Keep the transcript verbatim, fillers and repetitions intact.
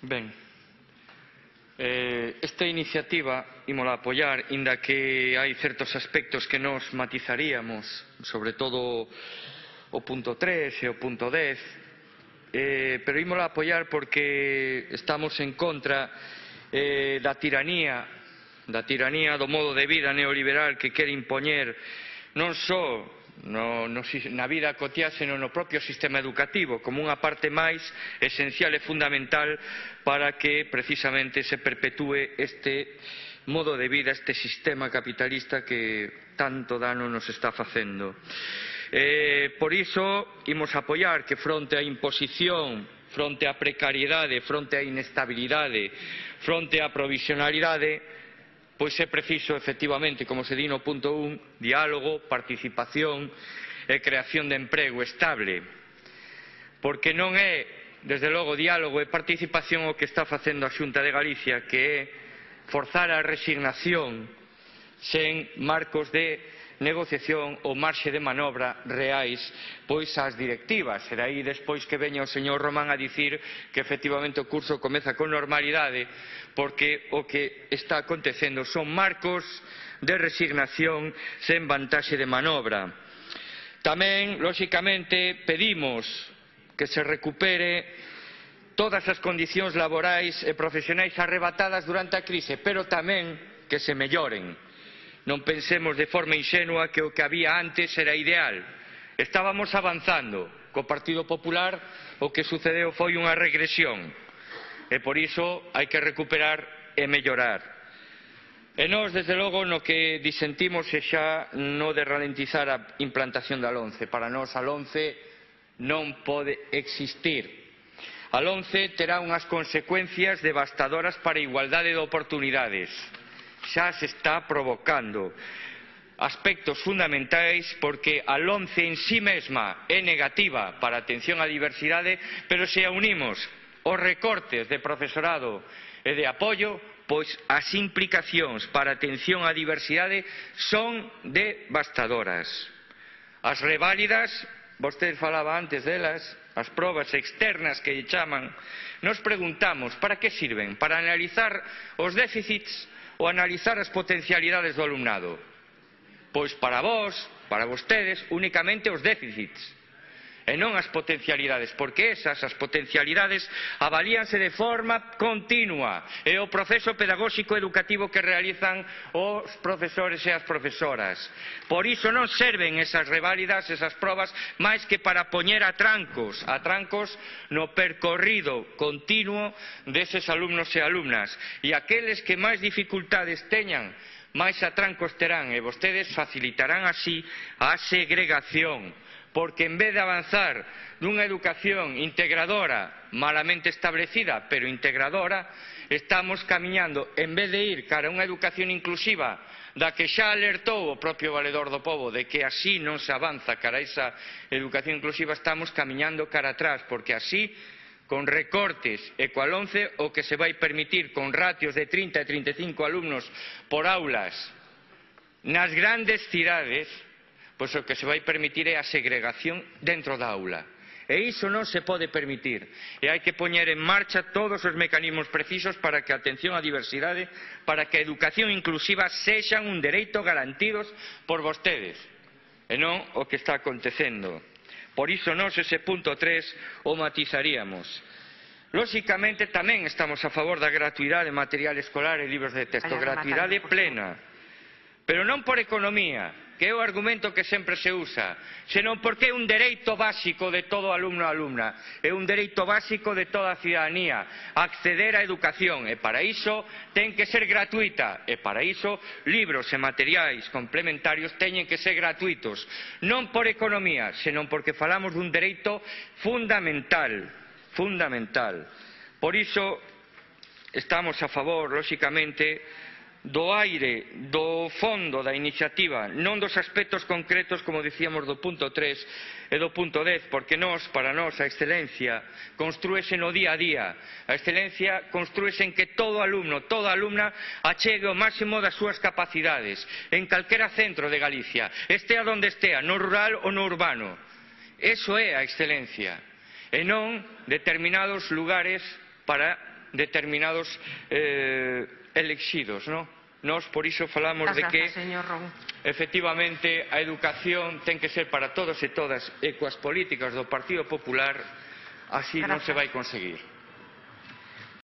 Ben, eh, esta iniciativa ímola apoiar, inda que hai certos aspectos que nos matizaríamos, sobre todo o punto tres e o punto dez, eh, pero ímola apoiar porque estamos en contra eh, da tiranía, da tiranía do modo de vida neoliberal que quere impoñer non só No, no, na vida cotiá, senón no propio sistema educativo, como unha parte máis esencial e fundamental para que precisamente se perpetúe este modo de vida, este sistema capitalista que tanto dano nos está facendo. Eh, por iso, imos apoiar que fronte á imposición, fronte á precariedade, fronte á inestabilidade, fronte á provisionalidade, pois é preciso, efectivamente, como se di no punto un, diálogo, participación e creación de emprego estable. Porque non é, desde logo, diálogo e participación o que está facendo a Xunta de Galicia, que é forzar a resignación sen marcos de negociación ou marxe de manobra reais pois ás directivas. Será aí despois que veña o señor Román a dicir que efectivamente o curso comeza con normalidade, porque o que está acontecendo son marcos de resignación sen vantaxe de manobra. Tamén, lóxicamente, pedimos que se recupere todas as condicións laborais e profesionais arrebatadas durante a crise, pero tamén que se melloren. Non pensemos de forma inxenua que o que había antes era ideal. Estábamos avanzando. Co Partido Popular o que sucedeu foi unha regresión. E por iso hai que recuperar e mellorar. E nós, desde logo, no que disentimos é xa no de ralentizar a implantación da LOMCE. Para nós a LOMCE non pode existir. A LOMCE terá unhas consecuencias devastadoras para a igualdade de oportunidades. Xa se está provocando aspectos fundamentais porque a LOMCE en sí mesma é negativa para a atención á diversidade, pero se a unimos os recortes de profesorado e de apoio, pois as implicacións para a atención á diversidade son devastadoras. As reválidas, vostede falaba antes delas, as probas externas que lle chaman, nos preguntamos para que sirven? Para analizar os déficits ou analizar as potencialidades do alumnado? Pois para vós, para vostedes, únicamente os déficits e non as potencialidades, porque esas, as potencialidades, avalíanse de forma continua. É o proceso pedagóxico educativo que realizan os profesores e as profesoras. Por iso non serven esas reválidas, esas probas, máis que para poñer a trancos, a trancos no percorrido continuo deses alumnos e alumnas. E aqueles que máis dificultades teñan, máis atrancos terán, e vostedes facilitarán así a segregación. Porque en vez de avanzar nunha educación integradora, malamente establecida, pero integradora, estamos camiñando, en vez de ir cara a unha educación inclusiva, da que xa alertou o propio Valedor do Pobo, de que así non se avanza cara a esa educación inclusiva, estamos camiñando cara atrás, porque así, con recortes e coa LOMCE, o que se vai permitir con ratios de trinta e trinta e cinco alumnos por aulas nas grandes cidades, pois o que se vai permitir é a segregación dentro da aula. E iso non se pode permitir. E hai que poñer en marcha todos os mecanismos precisos para que a atención á diversidade, para que a educación inclusiva sexan un dereito garantidos por vostedes, e non o que está acontecendo. Por iso nós ese punto tres o matizaríamos. Lóxicamente tamén estamos a favor da gratuidade de material escolar e libros de texto, gratuidade plena, pero non por economía, que é o argumento que sempre se usa, senón porque é un dereito básico de todo alumno e alumna, é un dereito básico de toda a cidadanía, acceder á educación, e para iso ten que ser gratuita, e para iso libros e materiais complementarios teñen que ser gratuitos, non por economía, senón porque falamos dun dereito fundamental, fundamental. Por iso estamos a favor, lóxicamente, do aire, do fondo da iniciativa, non dos aspectos concretos, como dicíamos, do punto tres e do punto dez, porque nós, para nós, a excelencia construíse no día a día. A excelencia construíse en que todo alumno, toda alumna, achegue o máximo das súas capacidades, en calquera centro de Galicia, estea donde estea, no rural ou no urbano. Eso é a excelencia, e non determinados lugares para determinados eh, elixidos, non? Nós por iso falamos de que efectivamente a educación ten que ser para todos e todas e coas políticas do Partido Popular así non se vai conseguir.